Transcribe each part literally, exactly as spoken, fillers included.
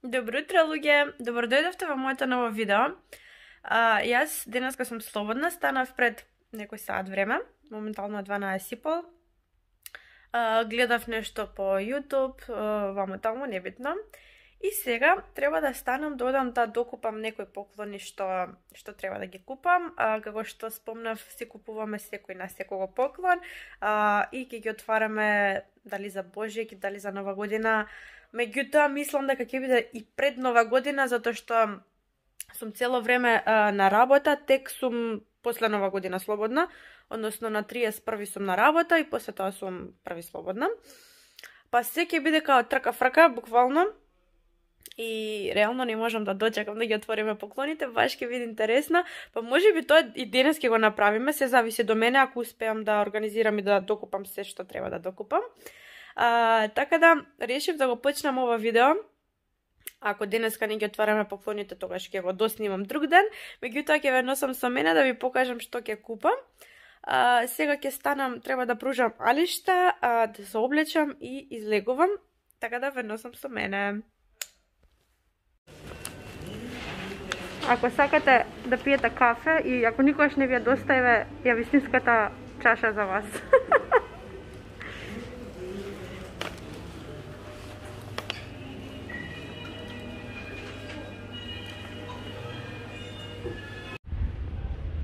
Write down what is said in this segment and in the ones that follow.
Добро утро, луѓе! Добро дојдовте во моето ново видео. А, јас денеска сум слободна, станав пред некој саат време, моментално е дванаесет и пол. А, гледав нешто по YouTube, вамо таму, небитно. И сега треба да станам да одам да докупам некои поклони што што треба да ги купам. А, како што спомнав, си купуваме секој на секого поклон а, и ќе ги отвараме дали за Божјак, дали за Нова година. Меѓутоа, мислам дека ќе биде и пред Нова година, затоа што сум цело време а, на работа, тек сум после Нова година слободна, односно на триесет и први сум на работа и после тоа сум први слободна. Па се ќе биде као трка-фрка, буквално, и реално не можам да дочекам да ги отвориме поклоните, баш ќе биде интересно, па може би тоа и денес ќе го направиме, се зависи до мене, ако успеам да организирам и да докупам се што треба да докупам. А, така да, решив да го почнам ова видео. Ако денеска не ги отвараме поклоните, тогаш ќе го доснимам друг ден. Меѓутоа ќе ве носам со мене да ви покажам што ќе купам. А, сега ќе станам, треба да пружам алишта, а, да се облечам и излегувам. Така да ве носам со мене. Ако сакате да пиете кафе и ако никогаш не ви ја достави ја вистинската чаша за вас.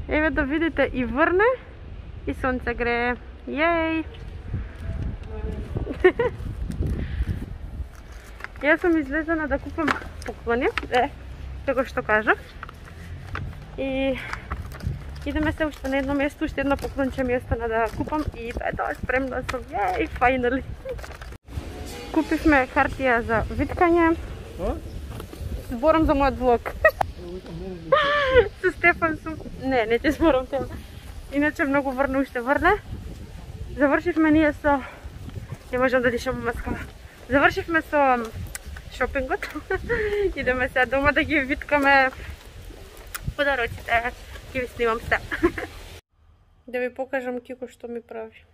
Еве да видите и врне и сонце грее. Јеј! Јас сум излезена да купам поклони, е, како што кажав. И идеме се уште на едно место, уште едно поклонче ми остана да купам и тоа е тоа, спремна сум. Јеј, фајнали! Купивме хартија за виткање. Зборам за мојот влог. Со Стефан сум... Не, не ќе зборам тема. Иначе многу врне уште врне. Завршивме ние со... Не можам да дишам маска. Завршивме со шопингот. Идеме сега дома да ги виткаме подароците. Ќе ви снимам се. Да ви покажам Кико што ми прави.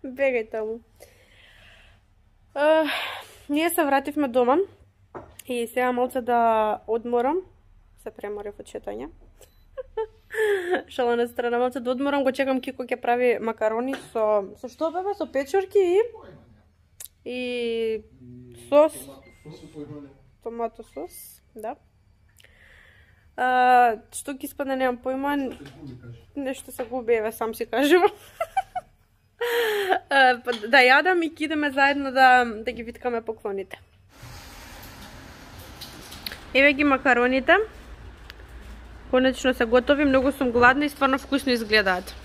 Бегај таму. Uh, ние се вративме дома. И сега малце да одморам. Се преморив од шетање. Шала на страна, малце да одморам, го чекам Кико ќе прави макарони со... Со што бебе? Со печурки и... И... Сос. Томато сос, да. А, што ќе испадне, немам појма. Нешто се губи, еве, сам си кажувам. Да јадам и ќе идеме заедно да, да ги виткаме поклоните. Еве ги макароните. Конечно се готови, многу сум гладна и стварно вкусно изгледаат.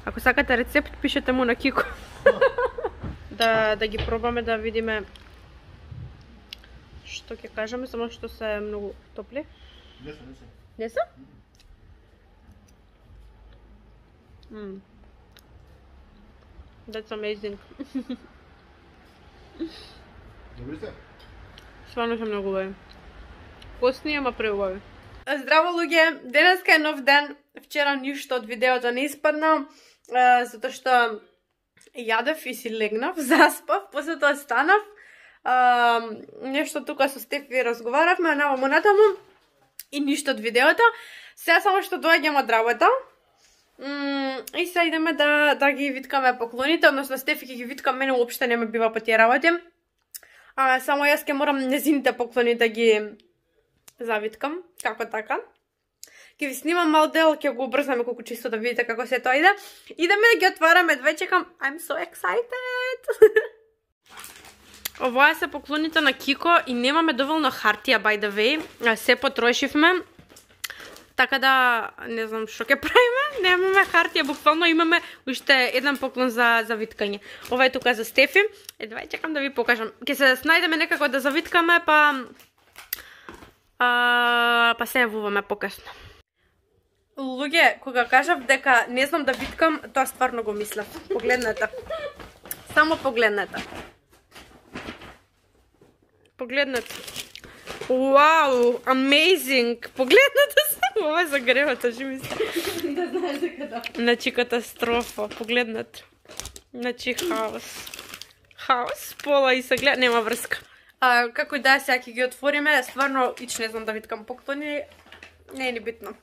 Ако сакате рецепт, пишете му на Кико. да, да ги пробаме, да видиме што ќе кажеме, само што се многу топли. Не се, не се. Не се? Mm. That's amazing. Добри сте? Стварно се многу убави. Постни, ама преубави. Здраво, луѓе! Денеска е нов ден. Вчера ништо од видеото не испадна, затоа што јадев и си легнав, заспав, после тоа станав. А, нешто тука со Стефи разговаравме, наваму натаму и ништо од видеото. Сега само што доаѓам од работа. И сега идеме да, да ги виткаме поклоните, односно Стефи ќе ги виткам, мене уопште не ме бива по тие работи. А, само јас ќе морам незините поклони да ги завиткам, како така. Ќе ви снимам мал дел, ќе го убрзаме колку чисто да видите како се тоа иде. Идеме да ги отвараме, две чекам. I'm so excited! Оваа се поклоните на Кико и немаме доволно хартија, by the way. Се потрошивме. Така да, не знам што ќе правиме, немаме хартија, буквално имаме уште еден поклон за, за виткање. Ова е тука за Стефи. Едва чекам да ви покажам. Ќе се снајдеме некако да завиткаме, па... А, па се јавуваме покасно. Луѓе, кога кажав дека не знам да виткам, тоа стварно го мислев. Погледнете. Само погледнете. Погледнете. Вау, amazing! Погледнете само, ова е за гревата, живи се. Да знаеш дека да. Значи катастрофа, погледнете. Значи хаос. хаос, пола и се гледа, нема врска. А, како и да, сега ќе ги отвориме, стварно, ич не знам да виткам поклони, не е ни битно.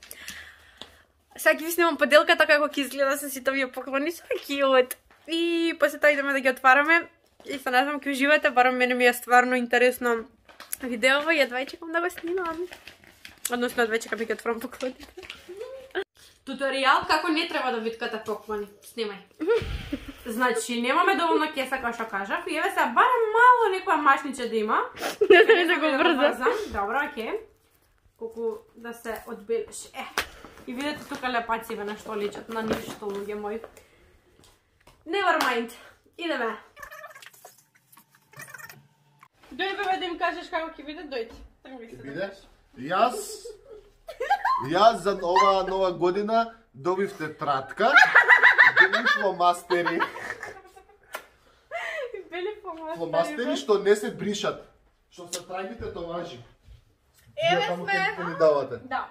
Сега ќе ви снимам поделката како ќе изгледа со сите овие поклони, со кјут. И после тоа идеме да ги отвараме. И се надевам ќе уживате, барам мене ми е стварно интересно видеово и едва чекам да го снимам. Односно, едва чекам да ги отворам поклоните. Туторијал како не треба да виткате поклони. Снимај. Значи, немаме доволно кеса, како што кажав, и еве сега барем мало некоја машниче да има. Не да да го брзам. Добро, окей. Колку да се одбелеше. Е. И видите тука лепациве на што личат, на ништо, луѓе мои. Never mind. Идеме. Дој бебе да им кажеш како ќе биде, дојди. Ќе биде? Јас Јас за ова нова година добив тетрадка, добив фломастери. Бели фломастери. Фломастери што не се бришат. Што се трагите томажи. Еве Таму сме. ќе ни давате. Да.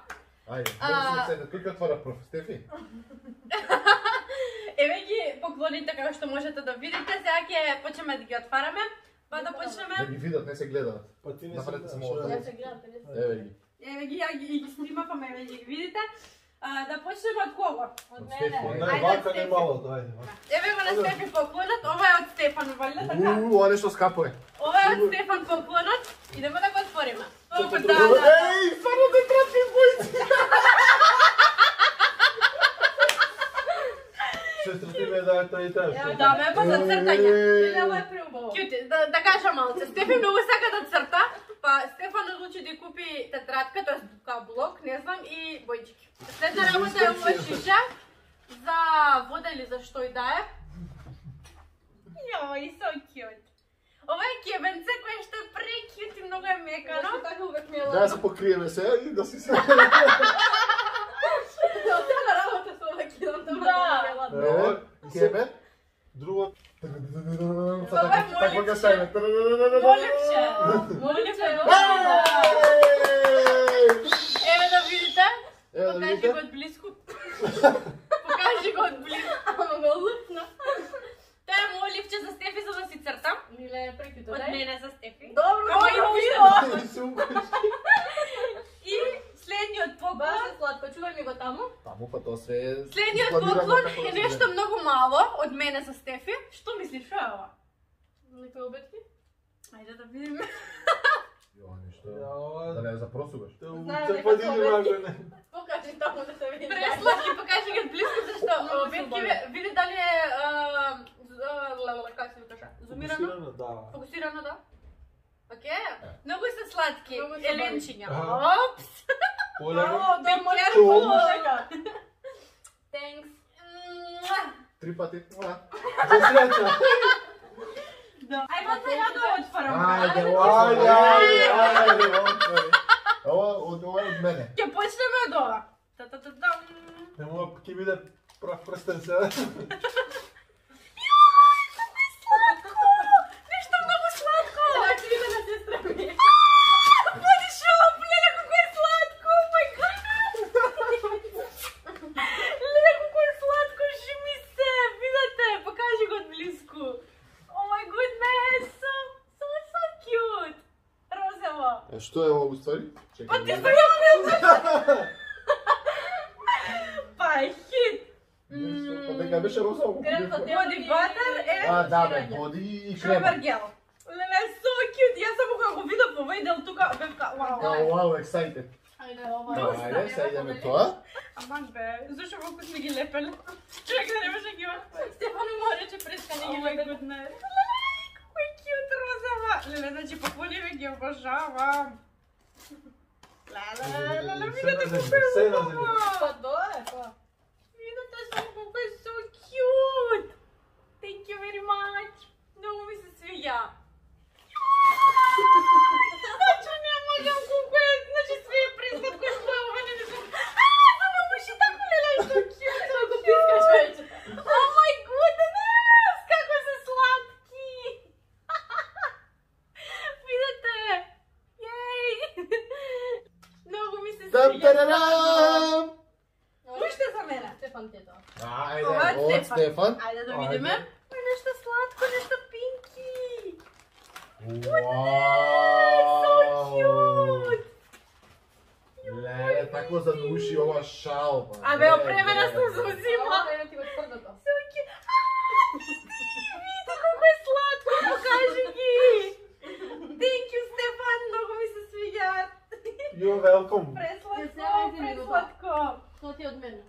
Ајде, А- може се седне. Кој ќе отвора прв? Стефи? Еве ги поклоните како што можете да видите. Сега ќе почнеме да ги отвараме. Па да Да почнеме. ги видат, не се гледаат. Па ти не Направете се се гледаш, малку. што Да се гледате, не се. Еве ги. Еве ги, ја ги, и ги снимавме, еве ги ги видите. А, да почнеме од кого? Од Стефи. Не, Ајде, вака не Стефи. малото, ајде. вака. Еве го на Стефи поклонот, ова е од Стефан, валја така? Уу, ова нешто скапо е. Ова е од Стефан поклонот, идеме да го отвориме. Ова да, да. Еј, стварно тетрадки бојци. Сестра ти ме даде тој и тоа. Да, ме па за цртање. Еј. Ова е преубаво. Кјути, да, да кажам малце. Стефи многу сака да црта, па Стефан одлучи да купи тетрадка, тоа е блок, не знам, и бојчики. Следна работа е ова шиша за вода или за што и да е. Јој, so cute. Ова е кебенце кое што е прекјут и многу е мекано. Така увек ми е Да се покриеме се и да си се. Цела работа со ова килом, тоа Да. е ладно. Еве, кебе. Друго, Така така ќе стане. Моливче. Моливче. Еве да видите. Еве да Покажи видите. го од близко. Покажи го од близко. Ама го лупна. Тоа е мој ливче за Стефи за да си цртам. Миле е прекјуто, Од да? мене за Стефи. Добро, Ама и добро. видео. И следниот поклон. Баш е сладко, чувај ми го таму. Таму па тоа се е. Следниот планирано поклон како да е се нешто гледа. многу мало од мене за Стефи. Што мислиш, што е ова? Некои обетки? Ајде да видиме. Јо, ништо. Ја, ова- Да не запросуваш. те Знаем се дека подиги се обетки. важене. Покажи таму да се види. Пресладки, покажи ги од близко зашто Многу обетки субави. ве- види дали е а, з- леле, како се кажа? Зумирано? Фокусирано, да. Фокусирано, да? Океј. Многу се сладки. Многу се Еленчиња. Аха. Опс. Полека. О, да, може Be Чум. полека. Thanks. Три пати. Уа. За среќа. Ајде сега да отворам. Ајде, Ајде, ајде, ајде, ајде, отвори. Ова од ова е од мене. Ќе почнеме од ова. Та-та-та-дам. Не мога ќе биде прав прстен сега. Нешто многу сладко. Значи иде на сестра ми. Води шоп, леле како е сладко. Oh my god. Леле како е сладко, жими се. Видете, покажи го од близко. Oh my goodness. So, so, so cute. Розово. Е, што е ова уствари? Па ти Чекај. стојам. Па е хит. Нешто, па дека беше розово. Крем за тебе. Боди батер е А, да, бе, боди и крема. шобер гел. Леле, so cute. Јас само кога го видов во овој дел тука, бев ка, вау. Вау, вау, excited. Ајде, ова. Да, ајде, сега идеме тоа. Аман бе, зашо колку сме ги лепели? Чекай, не може ги отвори. Стефано му рече прескани Oh ги my лепе. goodness. Леле, како е cute розова. Леле, значи поклониве ги обожавам. Леле, леле, видите Се на колку е земја, се на земја. убаво. Па тоа е, па. Видите само колку е so cute. Thank you very much. Многу ми се свиѓа. Значи не можам колку е, значи све е пресладко што е ова, не знам. А, за многу ши тако леле, so cute. Како пискаш вече. Oh my goodness! Како се сладки! Видете? Јеј! Многу ми се Там свиѓа. тарарам! Уште за мене. Стефан ти е тоа. Ајде, Ова е од Стефан. Стефан. Ајде да Ајде. видиме. Ой, нешто сладко, нешто пинки. Вау! Леле, тако за уши ова шал. ба. Абе, опремена сум се узима. Ама да ти го тврдото. Суки. Види колко е сладко, покажи ги. Thank you, Стефан, много ми се свиѓаат. You're welcome. Пресладко, пресладко. Тоа ти е од мене.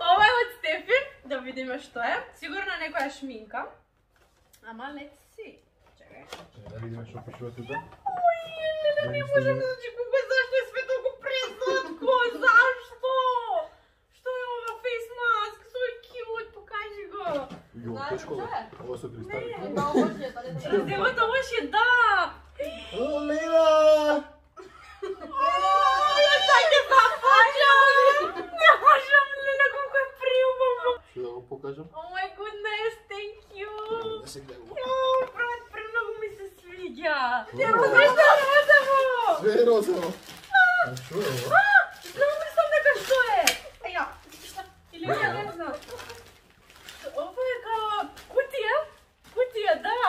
Ова е од Стефи, да видиме што е. Сигурно некоја шминка. Ама let's see. Чекај. Чекај да видиме што пишува тука. Ој, не, не можам да значи колко е, зашто е све толку пресладко, зашто? Што е ова face mask? So cute, покажи го. Јо, Знаеш тешко. што е? Ова се кристали. Да, овоќе, па не знам. Раздевата лоши, да. О, Лила! Ја така започам! Не можам, Лина, колко е приубаво! Што да го покажам? Oh my goodness, thank you! Да се гледа. Јо, брат, премногу ми се свиѓа! Ти Знаеш што е розово? Све е розово. А што е ова? Знам ли сам дека што е? Еја, или ја не знам. Ова е као кутија? Кутија, да!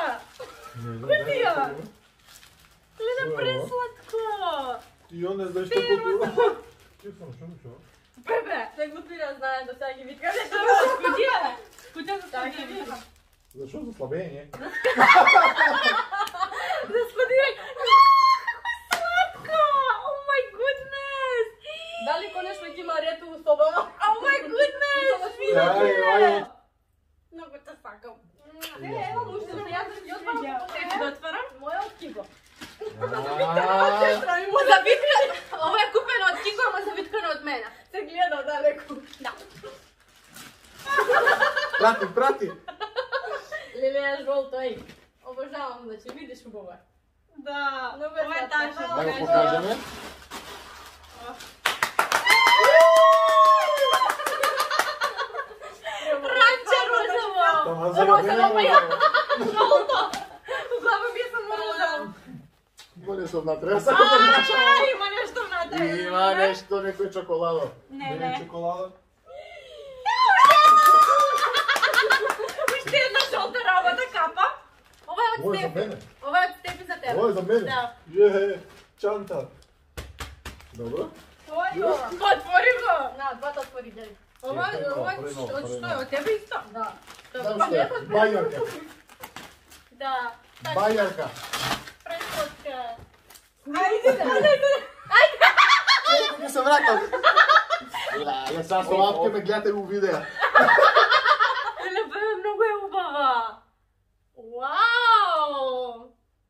Не знам. Кутија! Лина, Што е ова? пресладко! И он не знае што купува. Ти сам што ми што? Бебе! Се глупира, знае, до сега ги виткаме. Кутија! Кутија за Така ги складирање. викам. Зашо за слабење? За складирање. Како сладко! Oh my goodness! Дали конечно ќе има ред у собава? Oh my goodness! Ај, ај. Много те сакам. Е, ево, уште се јас ја отварам. Тефи да отварам? Моја од Киго. Ааа, Завиткан. Ова е купено од Кико, ама завиткано од мене. Се гледа далеку. Да. прати, прати. Леле е жолто, еј. Обожавам, значи, видиш убаво е. Да. Много е Ова е сладко. тажно. Да го покажеме. Ранче розово. Тама за Розово, мене. па ја. Жолто. Глава ми е само розово. Има нешто внатре. Ја сакам да начам. А, има нешто внатре. Има нешто, некој чоколадо. Не, Не не. чоколада. Уште една жолта работа капа. Ова е од Ова е за Стефи. мене. Ова е од Стефи за тебе. Ова е за мене. Да. Е, чанта. Добро. Тоа е ова. Отвори го. На, двата отвори, гледај. Ова, Чекај, ова, прво, од прво. што е? Од тебе исто? Да. Знам што е. Бајарка. Да. Бајарка. Пресладка. Ајде, Чекај да се вратам. Ја сега со апке ме гледате у видео. Еле, бе, многу е убава. Вау!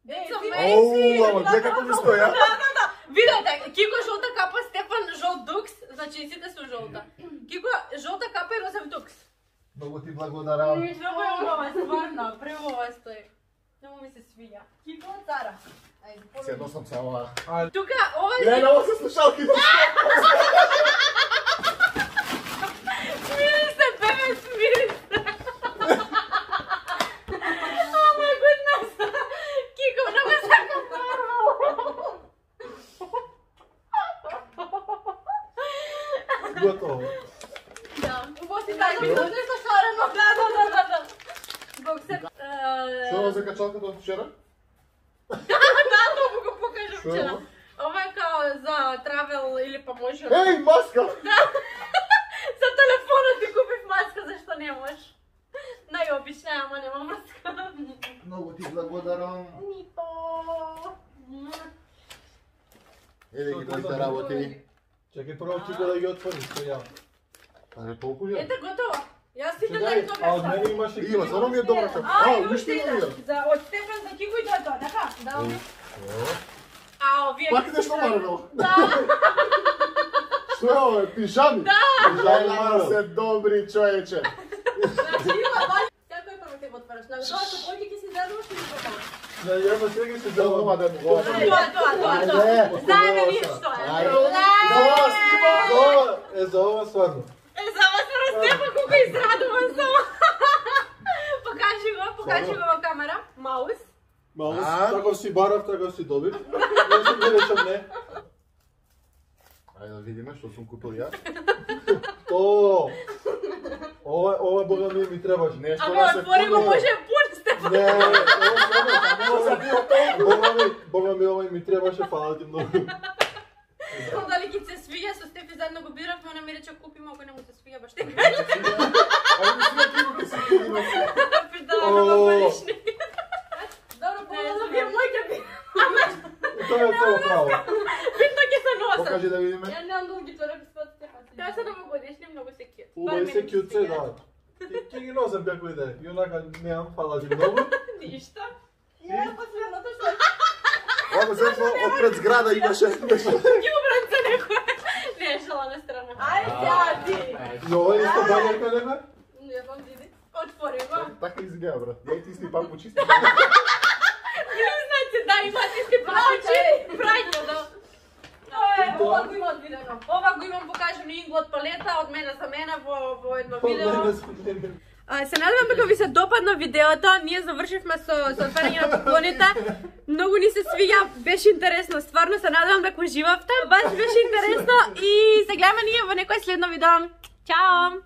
Е, It's ти- amazing! Оу, ама гледа како ми стоја. Да, да, да. Видете, Кико жолта капа, Стефан жолт дукс, значи сите су жолта. Кико жолта капа и розов дукс. Многу ти благодарам. Многу е убава, стварно, преубава стои. Многу ми се свиѓа. Кико од Цара. Ајде, Се носам се ова. Тука, ова Ја е... на ова се слушалки. Смири се, бебе, смири се. Oh my goodness. Кико, многу сакам Марвел. Готово. Да. Убаво си дај ми нешто шарено. Да, да, да, да, да. Бог се... Што е ова за качалката од вчера? Да, тоа го покажам Што е вчера. ова? Ова е као за travel или па може... Еј, маска! За телефонот ти купив маска, зашто не можеш? Најобична, ама нема маска. Многу ти благодарам. Нито. Еве ги моите работи. Чекај прво ти го да ги отвори, што ја. Аре, толку ја? Ете, готово. Јас сите Чекај, да А од тоа. мене имаше Има, зарно ми е добра капа. А, А, и уште уште има една. ја. За од Стефан за Кико и тоа, така? Да, ови. А, овие... Пак нешто Марвел. Да. Што е ова? Пижами? Да! Пижами Пижами Марвел. се добри, човече. Значи има два. Секој пат ќе го отвараш. На тоа што поќе ќе си задуваш и го покажеш. Да, ја на сега се Тоа давам. да ми го. Тоа, тоа, тоа, тоа. Ајде. Знаеме ние што е. Ајде. Ле! Да, снима! За ова, е за ова стварно. Е, за вас се Стефан колко израдуван само. Покажи го, покажи го во камера. Маус. Маус, А? таков си барав, таков си добив. Не си ми речам не. Ајде да видиме што сум купил ја. То. Ова, ова бога ми ми требаше. Нешто Абе, да се отвори го, пуне. може пун Стефан. Не, Бога ми, Бога ми, овој ми требаше, фала ти многу. Знам дали ќе се свиѓа, со Стефи заедно го биравме, она ми рече купиме, ако не му се свиѓа, баш те кажа. Ами си на криво ке се кидиме. Пидала на парични. Добро, полазо би мој ќе би. Тоа е цело право. Битно ќе се носам. Покажи да видиме. Ја немам долги чорапи спад Стефан. Тоа се новогодишни, многу се кјут. Убави се кјутце, да. Ќе ги носам како иде. И онака немам, фала ти многу. Ништа. Ја последното што Ово се од пред зграда имаше. ги убранца некој. Не е шала на страна. Ај, ѓади. И ова исто бањерка нема? Не вам види. Отвори го. Така изгледа, брат. Ја ти исти пампучи. Признате, да, имате иске пампучи. Прајно, да. Ова го има одвидено. Ова го имам покажано ингла од палета, од мене за мене во, во едно видео. А, се надевам дека ви се допадна видеото. Ние завршивме со со отварање на поклоните. Многу ни се свиѓа, беше интересно. Стварно се надевам дека уживавте. Баш беше интересно и се гледаме ние во некој следно видео. Чао!